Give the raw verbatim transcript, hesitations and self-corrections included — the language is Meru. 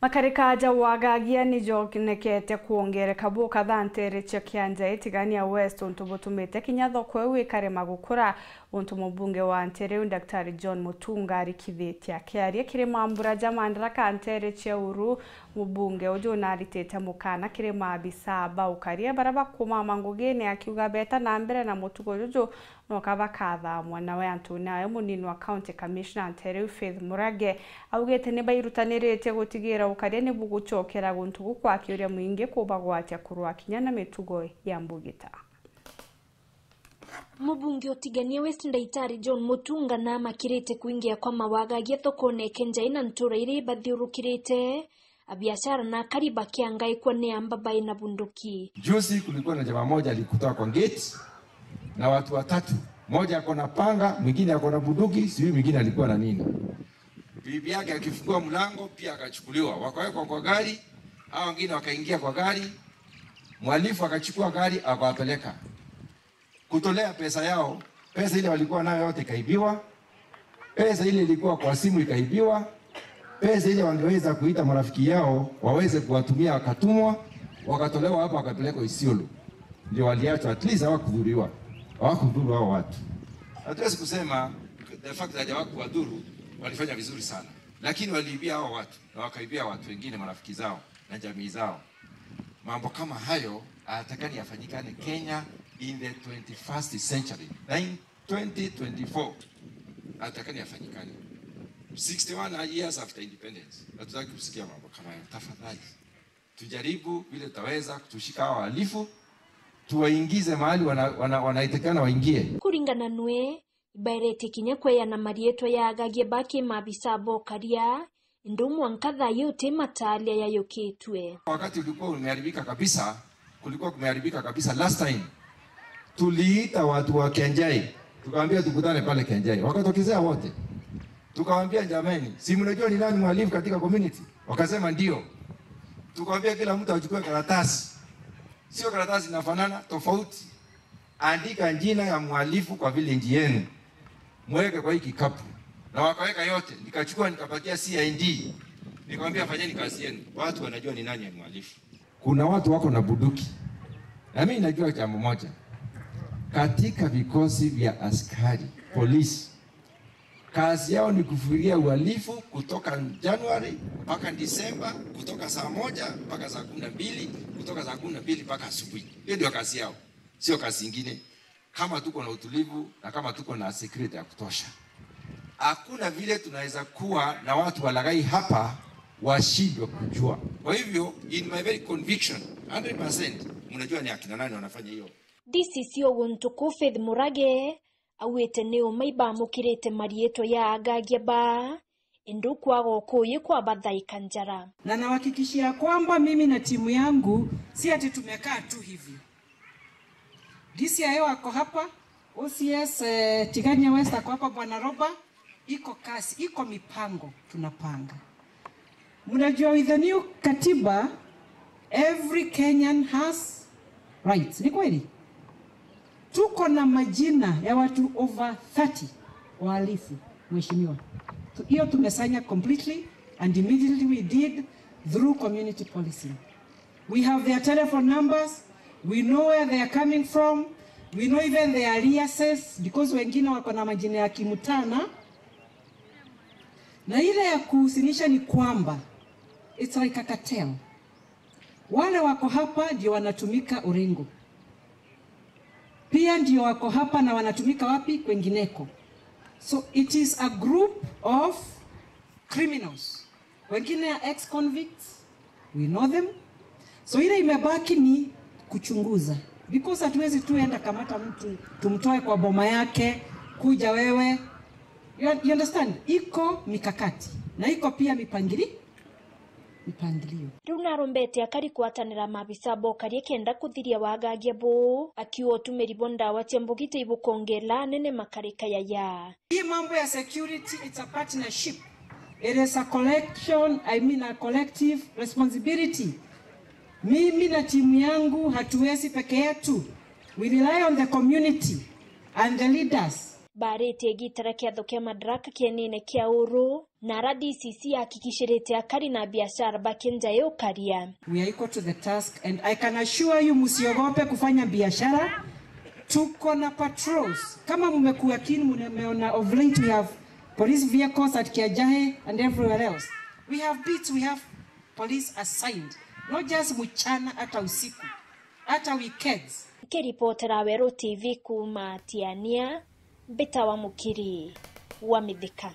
Makarika ja wagagia ni jonekete kwongereka bukatha ntere cia Kianjai Tigania West, untu butumite kinya thoko iu ikarema gukura, untu mubunge wa ntere iu Daktari John Mutunga arikithitie. Akiaria kiri mambura ja Madaraka ntere cia Uru, mubunge uju naritite mukana kiri maabisa ba ukaria baria bakumama ngugine, akiuga beta na mbere na mutugo juju, noka bakathamwa. Nawe antune ayo, munini wa County Commissioner ntere iu Faith Murage augite ni bairutaniritie gutigira ukaria ni bugucokera guntu gukwakiuria mwingi kubagwatia kurwa kinya na mitugo ya mbugita. Mubunge utigania West Ndaitari John Mutunga namakirite kuingia kwa mawagagia thokone Kianjai na ntura iria ibathiurukirite, abiashara na akari bakiangaikwa ni amba bai na bunduki. Juzi kulikuwa na jamaa moja alikutoa kwa gate na watu watatu, moja ako na panga, mwingine ako na bunduki, sijui mwingine alikuwa na nini. Bibi yake akifungua mlango pia akachukuliwa, wakawekwa kwa gari, hao wengine wakaingia kwa gari, mhalifu akachukua gari akawapeleka. Kutolea pesa yao, pesa ile walikuwa nayo yote ikaibiwa, pesa ile ilikuwa kwa simu ikaibiwa, pesa ile wangeweza kuita marafiki yao waweze kuwatumia wakatumwa, wakatolewa hapo wakapelekwa Isiolo. Ndio waliachwa, at least hawakudhuriwa, hawakudhuru hao watu. Hatuwezi kusema the fact that hawakuwadhuru, walifanya vizuri sana, lakini waliibia hao watu na wakaibia watu wengine, marafiki zao na jamii zao. Mambo kama hayo hayatakani yafanyikane Kenya in the twenty-first century. Na in twenty twenty-four, hayatakani yafanyikane. Sixty-one years after independence, hatutaki kusikia mambo kama hayo. Tafadhali, tujaribu vile tutaweza kutushika hawa wahalifu, tuwaingize mahali wana-, wana-, wanaitikana waingie. Kuringana nwe, ibaeretie kinya kweana marietwa ya agagia ba ki maabisa bokaria, indi mwanka thaa ii uti mataaria yayukitue. Wakati ulikuwa umeharibika kabisa, kulikuwa kumeharibika kabisa last time, tuliita watu wa Kianjai, tukaambia tukutane pale Kianjai. Wakatokezea wote. Tukawaambia, "Jamani, si mnajua ni nani mhalifu katika community?" Wakasema, "Ndio." Tukawaambia kila mtu achukue karatasi. Sio karatasi inafanana, tofauti. Andika jina ya mhalifu kwa village yenu. Mweke kwa hii kikapu. Na wakaweka yote, nikachukua nikapatia C I D. Nikamwambia, "Fanyeni kazi yenu. Watu wanajua ni nani ni mhalifu." Kuna watu wako na bunduki. Na mimi najua jambo moja. Katika vikosi vya askari, polisi, kazi yao ni kufikiria uhalifu kutoka Januari mpaka Disemba, kutoka saa moja mpaka saa kumi na mbili, kutoka saa kumi na mbili mpaka asubuhi. Hiyo ndio kazi yao, sio kazi ingine. Kama tuko na utulivu na kama tuko na security ya kutosha, hakuna vile tunaweza kuwa na watu walaghai hapa washindwe kujua. Kwa hivyo, in my very conviction, hundred percent, mnajua ni akina nani wanafanya hiyo. D C C o guntu kuu Faith Murage augite ni uma ibamukirite marietwa ya agagia ba, indi ukwaga ukuyi kwabathaika njara. Na nawahakikishia kwamba mimi na timu yangu si ati tumekaa tu hivyo. D C I O ako hapa, O C S, eh, Tigania West ako hapa, Bwana Roba, iko kasi, iko mipango tunapanga. Mnajua with the new katiba, every Kenyan has rights. Ni kweli? Tuko na majina ya watu over thirty wahalifu, mheshimiwa. Tu-, hiyo tumesanya completely and immediately we did through community policing. We have their telephone numbers, we know where they are coming from, we know even their aliases, because wengine wako na majina ya kimtana. Na ile ya kuhusinisha ni kwamba it's like a cartel. Wale wako hapa ndio wanatumika Orengo. Pia ndio wako hapa na wanatumika wapi? Kwengineko. So it is a group of criminals. Wengine are ex-convicts, we know them. So ile imebaki ni kuchunguza. Because hatuwezi tu enda kamata mtu, tumtoe kwa boma yake, kuja wewe. You, you understand? Iko mikakati. Na iko pia mipangili-, mipangilio. Riu narombete akari kwatanira maabisa bokaria kenda kuthiria wagagia buu, akiuga utumiri bwa ndawa cia mbugita ibukongela anene makarika yaya. Hii mambo ya security, it's a partnership. It is a collection, I mean a collective responsibility. Mimi na timu yangu hatuwezi peke yetu. We rely on the community and the leaders. Baaritie gitara kiatho kia Madaraka kienine kia Uru, Na R D C C ahakikishirite akari na biashara ba Kinjai ukaria. We are equal to the task and I can assure you, msiogope kufanya biashara. Tuko na patrols. Kama mmekuwa keen, mmeona of late we have police vehicles at Kiajahe and everywhere else. We have beats, we have police assigned. Not just mchana, hata usiku, hata weekends. Nkiripotera Weru T V kuuma Tiania, mbitawa Mukiri wa Mithika.